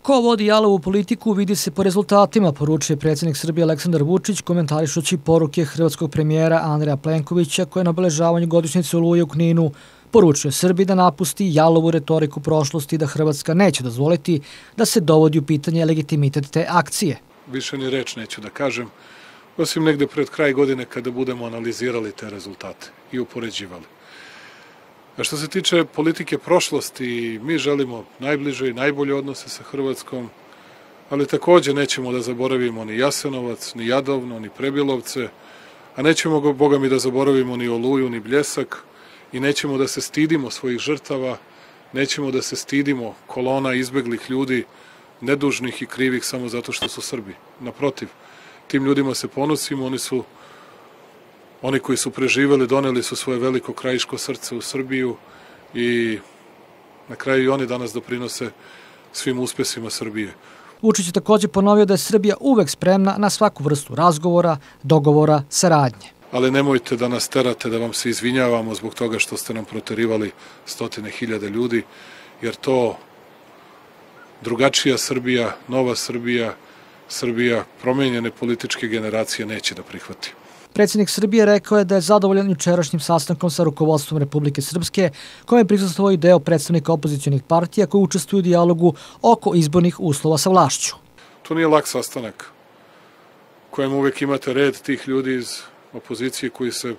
Ko vodi jalovu politiku vidi se po rezultatima, poručuje predsjednik Srbije Aleksandar Vučić komentarišući poruke hrvatskog premijera Andreja Plenkovića koje na obeležavanju godišnjice Oluje u Kninu poručuje Srbiji da napusti jalovu retoriku prošlosti i da Hrvatska neće dozvoliti da se dovodi u pitanje legitimitet te akcije. Više ni reč neću da kažem, osim negde pred kraj godine kada budemo analizirali te rezultate i upoređivali. A što se tiče politike prošlosti, mi želimo najbliže i najbolje odnose sa Hrvatskom, ali takođe nećemo da zaboravimo ni Jasenovac, ni Jadovno, ni Prebilovce, a nećemo, Boga mi, da zaboravimo ni Oluju, ni Bljesak i nećemo da se stidimo svojih žrtava, nećemo da se stidimo kolona izbeglih ljudi, nedužnih i krivih samo zato što su Srbi. Naprotiv, tim ljudima se ponosimo, oni koji su preživeli, doneli su svoje veliko krajiško srce u Srbiju i na kraju i oni danas doprinose svim uspesima Srbije. Vučić je također ponovio da je Srbija uvek spremna na svaku vrstu razgovora, dogovora, saradnje. Ali nemojte da nas terate da vam se izvinjavamo zbog toga što ste nam proterivali 100.000 ljudi, jer to drugačija Srbija, nova Srbija, Srbija promenjene političke generacije neće da prihvati. Predsjednik Srbije rekao je da je zadovoljan jučerašnjim sastankom sa rukovodstvom Republike Srpske, kome je prisustvovao i deo predstavnika opozicionih partija koji učestvuju u dijalogu oko izbornih uslova sa vlašću. To nije lak sastanak kojem uvek imate red tih ljudi iz opozicije koji se,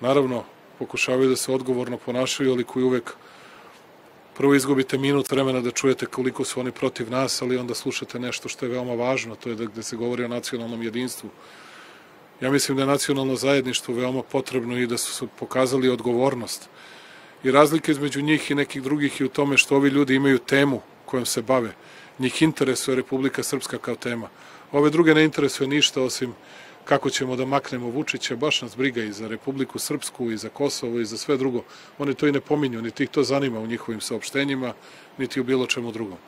naravno, pokušavaju da se odgovorno ponašaju, ali koji uvek prvo izgubite minut vremena da čujete koliko su oni protiv nas, ali onda slušate nešto što je veoma važno, to je gde se govori o nacionalnom jedinstvu. Ja mislim da je nacionalno zajedništvo veoma potrebno i da su pokazali odgovornost. I razlika između njih i nekih drugih je u tome što ovi ljudi imaju temu kojom se bave. Njih interesuje Republika Srpska kao tema. Ove druge ne interesuje ništa osim kako ćemo da maknemo Vučića, baš nas briga i za Republiku Srpsku, i za Kosovo, i za sve drugo. Oni to i ne pominju, niti ih to zanima u njihovim saopštenjima, niti u bilo čemu drugom.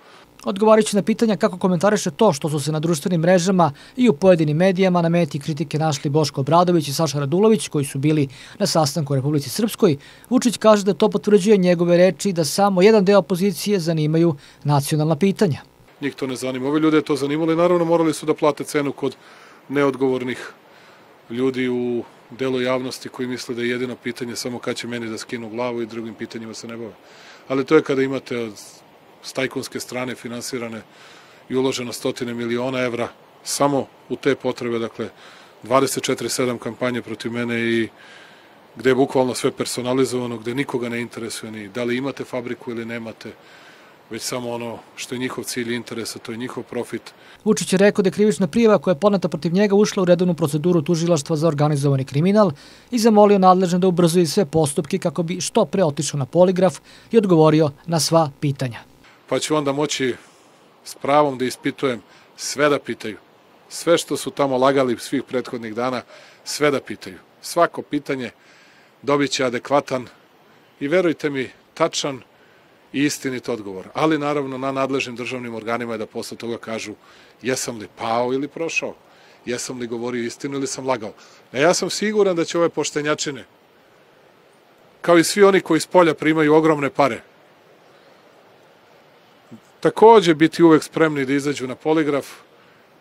Odgovarajući na pitanja kako komentariše to što su se na društvenim mrežama i u pojedinim medijama na meti kritike našli Boško Obradović i Saša Radulović, koji su bili na sastanku u Republici Srpskoj, Vučić kaže da to potvrđuje njegove reči da samo jedan deo opozicije zanimaju nacionalna pitanja. Njih to ne zanima. Ove ljude je to zanimalo i naravno morali su da plate cenu kod neodgovornih ljudi u delu javnosti koji misle da je jedino pitanje samo kad će meni da skinu glavu i drugim pitanjima se ne bave. Ali to je kada imate s tajkunske strane finansirane i uloženo 100 miliona evra samo u te potrebe, dakle 24/7 kampanje protiv mene i gde je bukvalno sve personalizovano, gde nikoga ne interesuje ni da li imate fabriku ili nemate, već samo ono što je njihov cilj i interesa, to je njihov profit. Vučić je rekao da je krivična prijava koja je podneta protiv njega ušla u redovnu proceduru tužilaštva za organizovani kriminal i zamolio nadležne da ubrzuje sve postupke kako bi što pre otišao na poligraf i odgovorio na sva pitanja. Pa ću onda moći s pravom da ispitujem, sve da pitaju. Sve što su tamo lagali svih prethodnih dana, sve da pitaju. Svako pitanje dobit će adekvatan i, verujte mi, tačan i istinit odgovor. Ali naravno na nadležnim državnim organima je da posle toga kažu jesam li pao ili prošao, jesam li govorio istinu ili sam lagao. Ja sam siguran da će ove poštenjačine, kao i svi oni koji s polja primaju ogromne pare, takođe biti uvek spremni da izađu na poligraf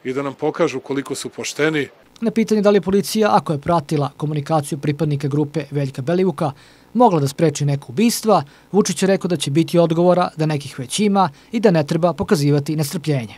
i da nam pokažu koliko su pošteni. Na pitanje da li je policija, ako je pratila komunikaciju pripadnika grupe Veljka Belivuka, mogla da spreči neko ubistva, Vučić je rekao da će biti odgovora da nekih već ima i da ne treba pokazivati nestrpljenje.